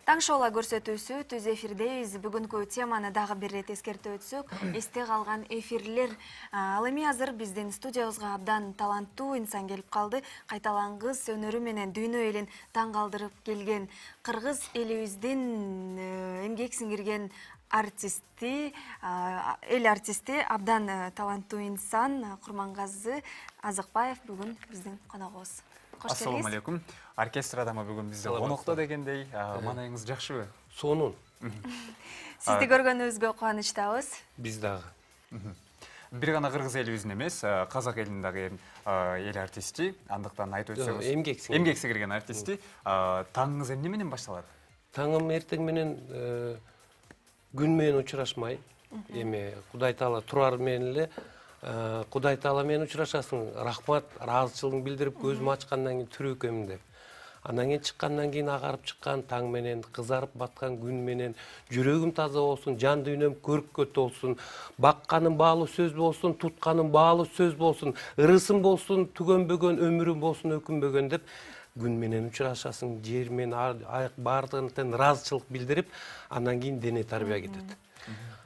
Таң шоула көрсөтүүсү түз эфирдейбиз. Бүгүнкү теманы дагы бир рет эскертип өтсөк, эсте калган эфирлер. Ал эми азыр биздин студиябызга абдан таланттуу инсан келип калды. Кайталангыс өнөрү менен дүйнө элин таң калтырып келген кыргыз элибиздин эмгек сиңирген артисти, эл артисти, абдан таланттуу инсан Курмангазы Азыкбаев бүгүн биздин коногубуз. Ассаламу алейкум. Оркестр адамы бүгүн бизде конокто дегендей. Маанайыңыз жакшыбы? Сонун. Сизди көргөнүбүзгө кубанычтабыз. Биз дагы. Бир гана кыргыз элибиздин эмес, казак элинин дагы эл артисти, андыктан айтып өтсөңүз. Эмгек сиңирген артисти. Таңыңыз эмне менен башталат? Таңым эртең менен күн менен учурашмай, эми Кудай Таала турар менен эле Кудай Таала менен учурашасың, рахмат, ыраазычылыгын билдирип көзүмү ачкандан кийин тирүү экенмин деп. Андан кийин чыккандан кийин агарып чыккан таң менен, кызарып баткан күн менен жүрөгүм таза болсун, жан дүйнөм көрккө толсун, бакканым баалуу сөз болсун, тутканым баалуу сөз болсун, ырысым болсун, түгөнбөгөн өмүрүм болсун өкүнбөгөн деп күн менен учурашасың, жер менен аяк баардыгына тең ыраазычылык билдирип, андан кийин дене тарбия кетет.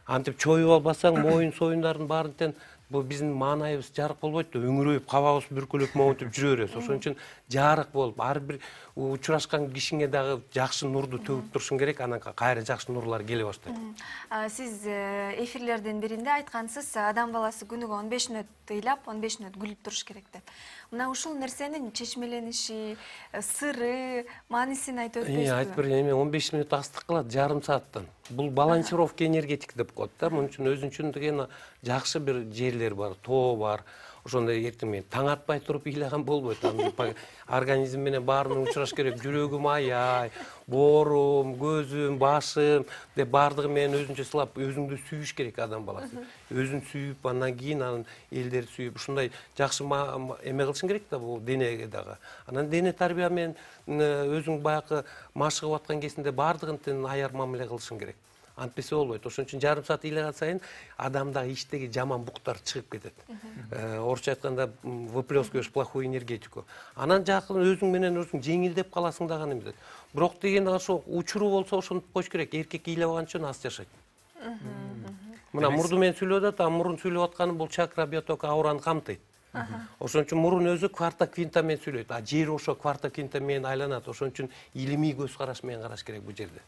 Антип чоюп албасаң, моюн союндардын баарын тең бул биздин маанайыбыз жарык болбойт да, өңүрөйүп, кабагыбыз бүркүлөп монтип жүрө беребиз. Ошон үчүн жарык болуп, ар бир учурашкан кишиңе дагы жакшы нурду төгүп турушуң керек, анан кайра жакшы нурлар келе баштайт. Сиз эфирлердин биринде айткансыз, адам баласы күнүгө 15 мүнөт ыйлап, 15 мүнөт күлүп туруш керек деп. Мына ушул нерсенин чечмелениши, сыры, маанисин айтып өтпөйсүзбү? Айтып берейин, 15 мүнөт астык кылат, жарым сааттан. Бул балансировка энергетик деп коет да. Мунун үчүн өзүнчө деген жакшы бир жерлер бар, тоо бар. Ошондой эртең менен таң атпай туруп ыйлаган болбойт. Организм менен баары менен учураш керек. Жүрөгүм аяй, боорум, көзүм, башым деп баардыгы менен өзүнчө сылап, өзүңдү сүйүш керек адам баласы. Өзүн сүйүп, андан кийин анан элдерди сүйүп, ушундай жакшы эме кылышың керек да бул денеге дагы. Анан дене тарбия менен өзүң баягы машыгып аткан кезинде баардыгын тең аяр мамиле кылышың керек. Антпесе болбойт. Ошон үчүн жарым саат ыйлаган сайын адамдагы иштеги жаман буктар чыгып кетет. Орусча айтканда выплескиваешь плохую энергетику. Анан жакын өзүң менен өзүң жеңилдеп каласың да гана эмес. Бирок деген ошо учуру болсо ошентип коюш керек. Эркек ыйлабаган үчүн аз жашайт. Мына мурду менен сүйлөп атат, мурун сүйлөп атканы бул чакра биотока аураны камтыйт. Ошон үчүн мурун өзү кварта квинта менен сүйлөйт. А жер ошо кварта квинта менен айланат. Ошон үчүн илимий көз караш менен караш керек бул жерде.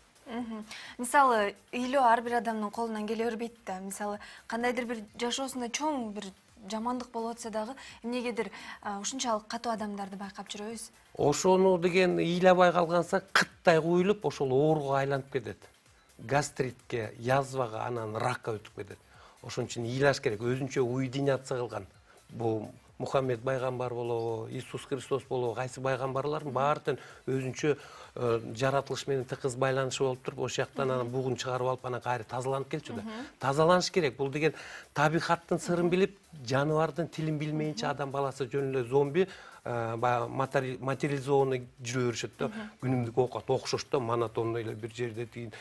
Мисалы, ыйлоо ар бир адамдын колунан келе бербейт да. Мисалы, кандайдыр бир жашоосунда чоң бир жамандык болуп атса дагы, эмнегедир ушунчалык катуу адамдарды байкап жүрөбүз. Ошону деген ыйлабай калганса, кыттай куюлуп, ошол ооруга айланып кетет. Гастритке, язвага, анан ракка өтүп кетет. Ошон үчүн ыйлаш керек, өзүнчө уединяться кылган. Бул Мухаммед пайгамбар болобу, Иисус Христос болобу, кайсы пайгамбарлардын баары тең өзүнчө жаратылыш менен тыгыз байланышы болуп туруп, ошол жактан анан бугун чыгарып алып, анан кайра тазаланып келчү да. Тазаланыш керек. Бул деген табигаттын сырын билип, жаныбардын тилин билмейинче адам баласы жөн эле зомби материализованный жүрө беришет да. Күнүмдүк оокат окшош да, монотонно эле бир жерде тиин.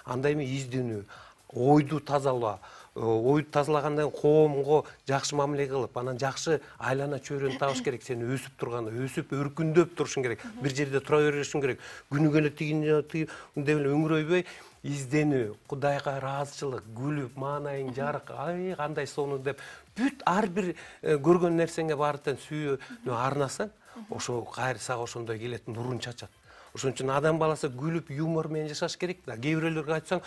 Андай эме изденүү, ойду тазалоо. Ойду тазалагандан коомго жакшы мамиле кылып, анан жакшы айлана чөйрөнү табыш керек. Сен өсүп турганда, өсүп өркүндөп турушуң керек. Бир жерде тура беришиң керек. Күнүгө эле деп эле өңүрөйбөй, изденүү, Кудайга ыраазычылык, күлүп, маанайың жарык, ай кандай сонун деп бүт ар бир көргөн нерсеңе баары тең сүйүүнү арнасаң, ошо кайра сага ошондой келет, нурун чачат. Ошон үчүн адам баласы күлүп, юмор менен жашаш керек да. Кээ бирлерге айтсаң,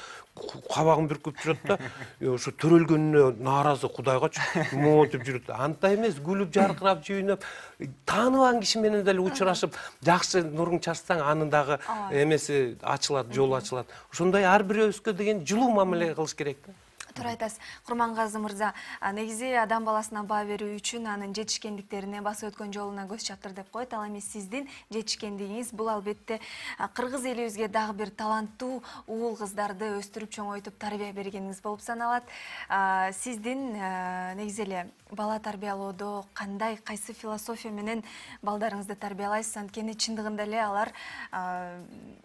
кабагын бүркүп жүрөт да, ошо төрөлгөнүнө нааразы Кудайгачы монтип жүрөт. Андай эмес, күлүп, жаркырап, жүйнөп, тааныбаган киши менен деле учурашып, жакшы нурун чачсаң, анын дагы эмеси ачылат, жолу ачылат. Ошондой ар бирөөбүзгө деген жылуу мамиле кылыш керек да. Туура айтасыз. Курмангазы мырза, негизи адам баласына баа берүү үчүн анын жетишкендиктерине, басып өткөн жолуна көз чаптыр деп коет. Ал эми сиздин жетишкендигиңиз бул албетте кыргыз элибизге дагы бир таланттуу уул кыздарды өстүрүп чоңойтуп тарбия бергениңиз болуп саналат. Сиздин негизи эле бала тарбиялоодо кайсы философия менен балдарыңызды тарбиялайсыз? Анткени чындыгында эле алар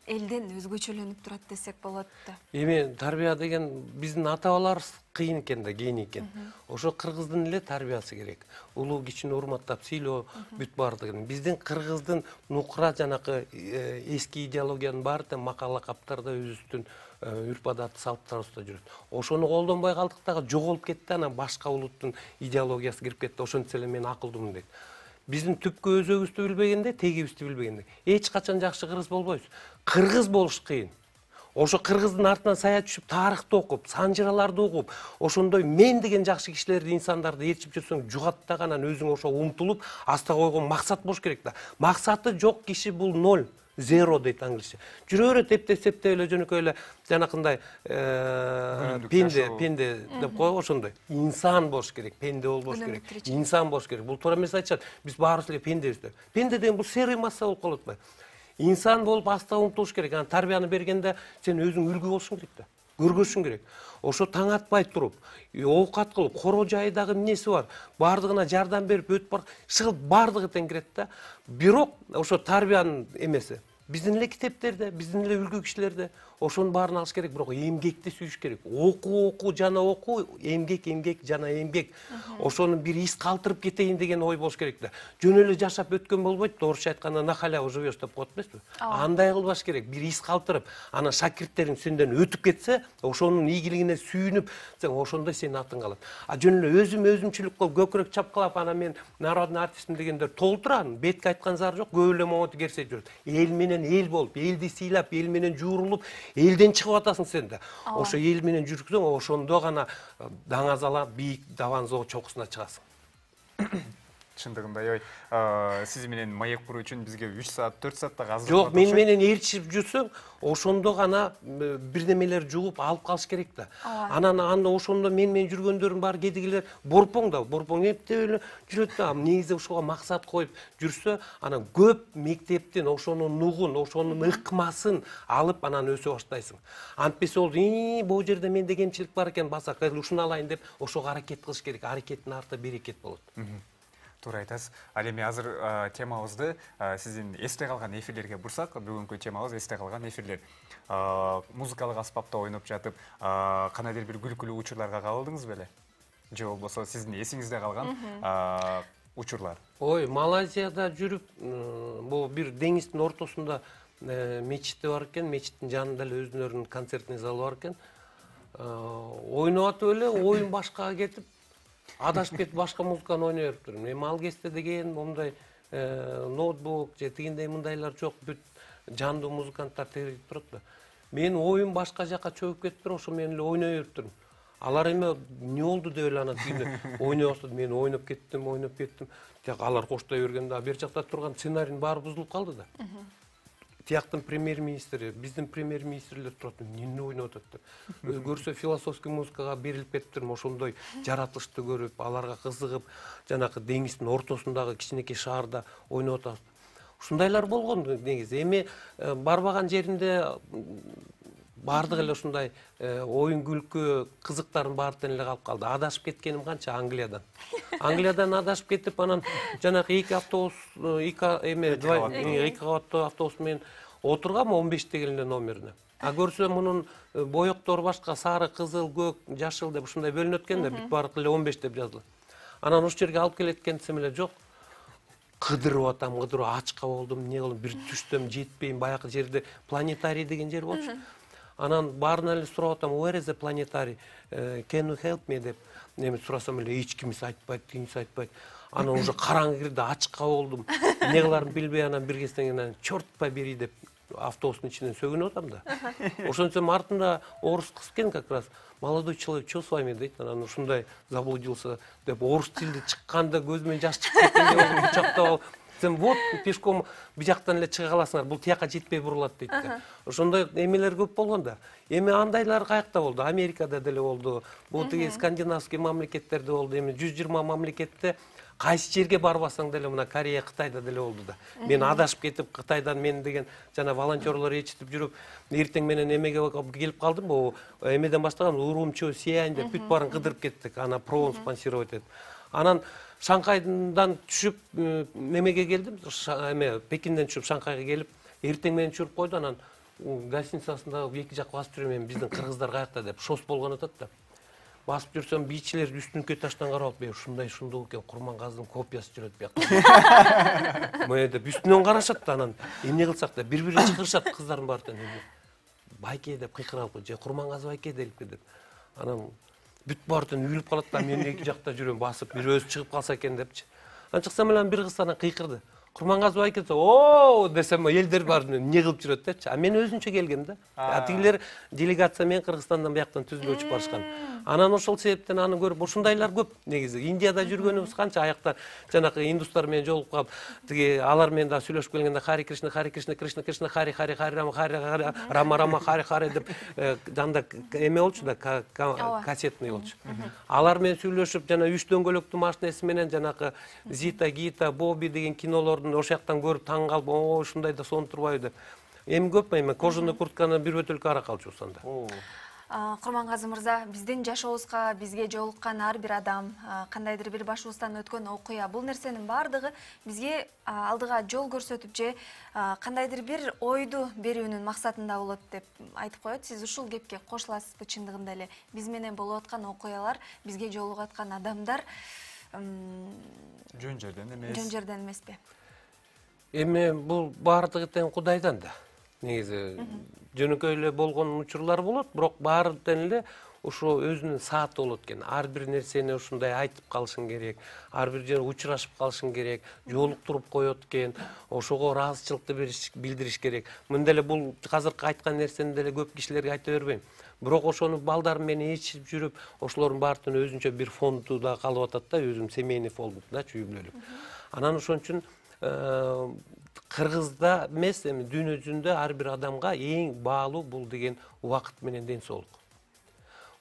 элден өзгөчөлөнүп турат десек болот да. Эми тарбия деген биздин ата-бабалар баарыбыз кыйын экен да, кийин экен. Ошо кыргыздын эле тарбиясы керек. Улуу кичини урматтап сыйлоо бүт бардыгын. Биздин кыргыздын нукура жанакы эски идеологиянын баары тең макала каптарда өзүбүздүн үрп-адаты, салт-тарыхта жүрөт. Ошону колдонбой калдык дагы жоголуп кетти, анан башка улуттун идеологиясы кирип кетти. Ошентсе эле мен акылдуумун дейт. Биздин түпкү өзөгүбүздү билбегенде, тегибизди билбегенде эч качан жакшы кыргыз болбойбуз. Кыргыз болуш кыйын. Ошо кыргыздын артынан сая түшүп, тарыхты окуп, санжыраларды окуп, ошондой мен деген жакшы кишилерди, инсандарды ээрчип жүрсөң, жугаттагы анан өзүң ошо умтулуп, аста койгон максат болуш керек да. Максаты жок киши бул ноль. Zero дейт англисче. Жүрө берет эптеп эле жөнөкөй эле жанакындай пенде деп коебу ошондой. Инсан болуш керек, пенде болбош керек. Инсан болуш керек. Бул туура эмес айтышат. Биз баарыбыз эле пендебиз деп. Пенде деген бул серый масса болуп калып атпайбы? Инсан болуп аста умтулуш керек. Анан тарбияны бергенде сен өзүң үлгү болушуң керек да. Көргөзүшүң керек. Ошо таң атпай туруп, оокат кылып, коро жайдагы эмнеси бар, бардыгына жардам берип өтүп бар, шыгып бардыгы тең кирет да. Бирок ошо тарбиянын эмеси биздин эле китептерде, биздин эле үлгү кишилерде ошонун баарын алыш керек, бирок эмгекти сүйүш керек. Окуу жана окуу, эмгек жана эмгек. Ошону бир из калтырып кетейин деген ой болуш керек да. Жөн эле жашап өткөн болбойт, орусча айтканда на халяву живешь деп коет эмеспи? Андай кылбаш керек, бир из калтырып, анан шакирттериң сенден өтүп кетсе, ошонун ийгилигине сүйүнүп, сен ошондой сенин атың калат. А жөн эле өзүмчүлүк кылып, көкүрөк чапкалап, анан мен народный артистмин дегендер толтуран, бетке айткан зар жок, көп эле момоту керсе жүрөт. Эл менен эл болуп, элди сыйлап, эл менен жуурулуп, элден чыгып атасың сен да. Ошо эл менен жүрсөң, ошондо гана даңазала бийик даванзоо чокусуна чыгасың. Чындыгында сиз менен маек куруу үчүн бизге 3 саат, 4 саатта азыр. Жок, мен менен ээрчип жүрсөң, ошондо гана бирдемелер жугуп алып калыш керек да. Анан ошондо мен жүргөндөрүм бар, кедигилер борпоң эптеп эле жүрөт да. Негизи ошого максат коюп жүрсө, анан көп мектептен ошонун нугун, ошонун ыкмасын алып, анан өсө баштайсың. Антпесе ол бул жерде менде кемчилик бар экен, басак, ушуну алайын деп ошого аракет кылыш керек. Аракеттин арты берекет болот. Туура айтасыз. Ал эми азыр темабызды сиздин эсте калган эфирлерге бурсак, бүгүнкү темабыз эсте калган эфирлер. Музыкалык аспапта ойноп жатып, кандайдыр бир күлкүлүү учурларга кабылдыңыз беле? Же болбосо сиздин эсиңизде калган учурлар? Ой, Малайзияда жүрүп, бул бир деңиздин ортосунда мечити бар экен, мечиттин жанында эле өзүнүн концертный залы бар экен. Ойноп атып эле, оюн башкага кетип, адашып кетип башка музыканы ойной бериптирмин. Эми ал кезде деген момундай ноутбук же тигиндей мындайлар жок, бүт жандуу музыканттар терилип турат да. Мен оюм башка жака чөгүп кетиптир, ошо мен эле ойной бериптирмин. Алар эми эмне болду деп эле анан тигинде ойной баштады, мен ойноп кеттим. Тияк алар коштой бергенде бер жакта турган сценарийдин баары бузулуп калды да. Тияктын премьер-министри, биздин премьер-министрлер турат, эмне ойноп атат деп. Көрсө философский музыкага берилип кетиптирмин, ошондой жаратылышты көрүп, аларга кызыгып, жанакы деңиздин ортосундагы кичинекей шаарда ойноп атат. Ушундайлар болгон негизи. Эми барбаган жеринде бардык эле ушундай оюн күлкү, кызыктардын баары тең эле калып калды. Адашып кеткеним канча Англиядан. Англиядан адашып кетип, анан жанакы 2 автобус, 2 кабаттуу автобус менен отургам 15 эле номерине. А көрсөм мунун боёктор башка, сары, кызыл, көк, жашыл деп ушундай бөлүнөт экен да, бүт баардык эле 15 деп жазылат. Анан ушул жерге алып келет экен десем эле жок. Кыдырып атам, ачка болдум, эмне кылдым, бир түштөм, жетпейм, баягы жерде планетарий деген жер болчу. Анан баарынан эле сурап атам, where is the planetary? Can you help me деп. Эми сурасам эле эч кимиси айтпайт, тигинси айтпайт. Анан уже караңгы кирди, ачка болдум. Эмне кыларымды билбей анан бир кезден кийин чёрт побери деп автобустун ичинен сөгүнүп атам да. Ошентсем артында орус кыз экен как раз. Молодой человек, что с вами дейт, анан ушундай заблудился деп орус тилде чыкканда көзүмөн жаш чыгып кеткендей болдум, кучактап алып. Сен вот пешком бияктан эле чыга каласыңар, бул тияка жетпей бурулат дейт да. Ошондой эмелер көп болгон да. Эми андайлар каякта болду? Америкада деле болду. Бул тиги скандинавский мамлекеттерде болду. Эми 120 мамлекетте кайсы жерге барбасаң деле мына Корея, Кытайда деле болду да. Мен адашып кетип, Кытайдан мен деген жана волонтерлор ээрчитип жүрүп, эртең менен эмеге келип калдым. Бул эмеден баштаган Урумчи, Сиань деп бүт баарын кыдырып кеттик. Ана провон спонсировать этип. Анан Шанхайдан түшүп немеге келдим, Пекинден түшүп Шанхайга келип, эртең менен түшүрүп койду, анан гостиницасында эки жак басып жүрөм, биздин кыргыздар каякта деп шос болгон атат да. басып жүрсөм, бийчилер үстүнкү этаждан карап алып, ушундай экен, Курмангаздын копиясы жүрөт бияка. Мына деп үстүнөн карашат да, анан эмне кылсак да бири-бирине чакырышат кыздардын баары. Байке деп кыйкырып, же Курмангаз байке делипи деп. Анан бүт баартын үйүлүп калат да, мен эки жакта жүрөм басып, бир өзү чыгып калса экен депчи. Анан чыксам эле бир кыз анан кыйкырды. Курмангаз байке о десем, элдер бар эмне кылып жүрөт депчи. А мен өзүнчө келгем да. Тигилер делегация менен Кыргызстандан бияктан түзүлүп өчүп барышкан. Анан ошол себептен аны көрүп, ушундайлар көп негизи. Индияда жүргөнүбүз канча, аякта жанакы индустар менен жолугуп калып, тиги алар менен да сүйлөшүп келгенде Хари Кришна, Хари Кришна, Кришна Кришна, Хари Хари, Хари Рама, Хари Рама, Рама, Хари Хари деп жанда эме болчу да, кассетный болчу. Алар менен сүйлөшүп, жана үч дөңгөлөктүү машинеси менен жанакы Зита, Гита, Боби деген кинолордун ошол жактан көрүп таң калып, о, ушундай да сон турбайбы деп. Эми көп эми кожаный куртканы бир бөтөлкө арак алчу анда. Курмангазы мырза, биздин жашообузга бизге жолуккан ар бир адам, кандайдыр бир башыбыздан өткөн окуя, бул нерсенин баардыгы бизге алдыга жол көрсөтүп же кандайдыр бир ойду берүүнүн максатында болот деп айтып коет. Сиз ушул кепке кошуласызбы? Чындыгында эле биз менен болуп аткан окуялар, бизге жолугуп аткан адамдар жөн жерден эмес. Жөн жерден эмеспи? Эми бул баардыгы тең Кудайдан да. Негизи жөнөкөй эле болгон учурлар болот, бирок баары тең эле ошо өзүнүн сааты болот экен. Ар бир нерсени ушундай айтып калышың керек, ар бир жерде учурашып калышың керек, жолуктуруп коет экен, ошого ыраазычылыкты билдириш керек. Мында эле бул азыркы айткан нерсени деле көп кишилерге айта бербейм. Бирок ошону балдарым менен ичип жүрүп, ошолордун баардыгын өзүнчө бир фонду да калып атат да, өзүм семейный фонд да, үй бүлөлүк. Анан ошон үчүн Кыргызда эмес, эми дүйнө жүзүндө ар бир адамга эң баалуу бул деген убакыт менен ден соолук.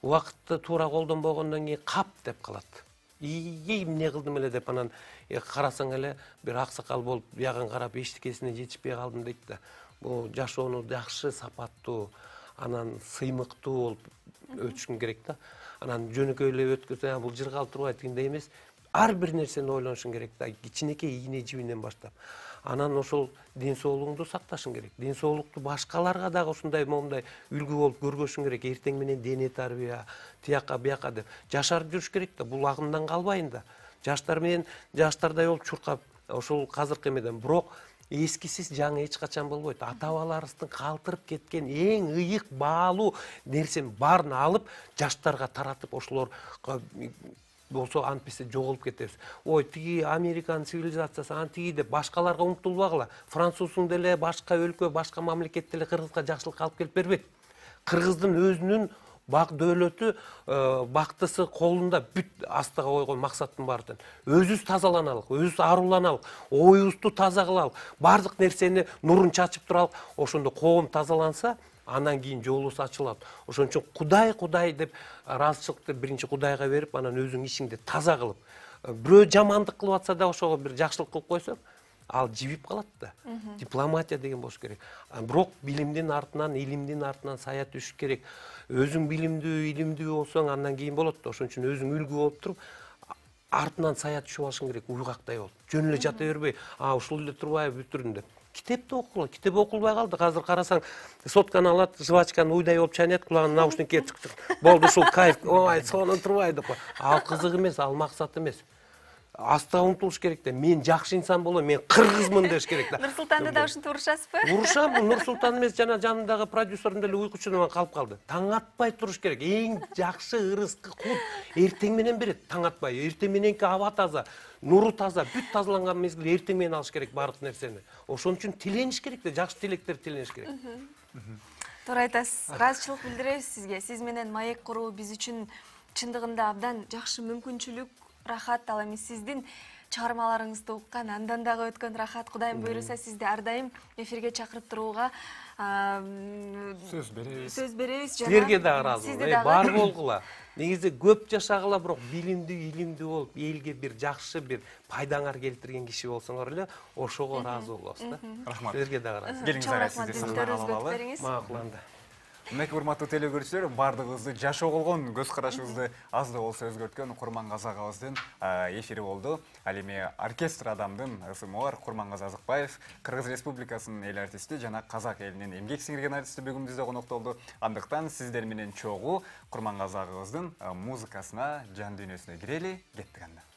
Убакытты туура колдонбогондон кийин кап деп калат. Эмне кылдым эле деп анан карасаң эле бир аксакал болуп, биягын карап эчтекесине жетишпей калдым дейт да. Бул жашоону жакшы, сапаттуу, анан сыймыктуу болуп өтүшүң керек да. Анан жөнөкөй эле өткөзсөң, бул жыргалып турбайт дегендей эмес. Ар бир нерсени ойлонушуң керек да, кичинекей ийне жибинен баштап. Анан ошол ден соолугуңду сакташың керек. Ден соолукту башкаларга дагы ушундай момундай үлгү болуп көргөзүшүң керек. Эртең менен дене тарбия, тияка бияка деп жашарып жүрүш керек да. Бул агымдан калбайын да. Жаштар менен жаштардай болуп чуркап, ошол азыркы эмеден. Бирок эскисиз жаңы эч качан болбойт. Ата-бабаларыбыздын калтырып кеткен эң ыйык, баалуу нерсенин баарын алып, жаштарга таратып, ошолор болсо антпесе жоголуп кетебиз. Ой, тиги Американын цивилизациясы, антиги деп башкаларга умтулбагыла. Француздун деле башка өлкө, башка мамлекет деле Кыргызга жакшылык алып келип бербейт. Кыргыздын өзүнүн бак дөөлөтү, бактысы колунда бүт астыга койгон максаттын баары. Өзүбүз тазаланалык, өзүбүз аруланалык, оюбузду таза кылалык, бардык нерсени нурун чачып туралык. Ошондо коом тазаланса, анан кийин жолубуз ачылат. Ошон үчүн Кудай деп ыраазычылыкты биринчи Кудайга берип, анан өзүң ишиңди таза кылып, бирөө жамандык кылып атса да ошого бир жакшылык кылып койсоң, ал жибип калат да. Дипломатия деген болуш керек. Бирок билимдин артынан, илимдин артынан сая түшүш керек. Өзүң билимдүү, илимдүү болсоң, андан кийин болот да. Ошон үчүн өзүң үлгү болуп туруп, артынан сая түшүп алышың керек, уйгактай болуп. Жөн эле жата бербей, ушул эле турбайбы бүтүрүн деп. Китепти окугула, китеп окулбай калды. Азыр карасаң, сотканы алат, жвачканы уйдай болуп чайнайт, кулагына наушникке чык-чык. Болду ушул кайф. Ой, сонун турбайт деп. Ал кызык эмес, ал максат эмес. Астыга умтулуш керек да. Мен жакшы инсан болом, мен кыргызмын деш керек да. Нурсултанды да ушинтип урушасызбы? Урушам, Нурсултан эмес, жана жанындагы продюсерим деле уйкучунан калып калды. Таң атпай туруш керек. Эң жакшы ырыскы кут эртең менен берет, таң атпай. Эртең мененки аба таза, нуру таза, бүт тазаланган мезгилде эртең менен алыш керек бардык нерсени. Ошон үчүн тилениш керек да, жакшы тилектер тилениш керек. Туура айтасыз. Ыраазычылык билдиребиз сизге. Сиз менен маек куруу биз үчүн чындыгында абдан жакшы мүмкүнчүлүк, рахат. Ал эми сиздин чыгармаларыңызды уккан, андан дагы өткөн рахат. Кудайым буйруса сизди ар дайым эфирге чакырып турууга сөз беребиз. Силерге да ыраазымын. Бар болгула. Негизи көп жашагыла, бирок билимдүү, илимдүү болуп, элге бир жакшы бир пайдаңар келтирген киши болсоңор эле, ошого ыраазы болобуз да. Рахмат. Силерге да ыраазы. Келиңиз ара сизди сахнага алалы. Макул анда. Демек, урматтуу теле көрүүчүлөр, бардыгыбызды жашоо болгон көз карашыбызды аз да болсо өзгөрткөн Курмангазы агабыздын эфири болду. Ал эми оркестр адамдын ысымы бар Курмангазы Азыкбаев, Кыргыз Республикасынын эл артисти жана казак элинин эмгек сиңирген артисти бүгүн бизде конокто. Андыктан сиздер менен чогуу Курмангазы агабыздын музыкасына, жан дүйнөсүнө кирели, кеттик анда.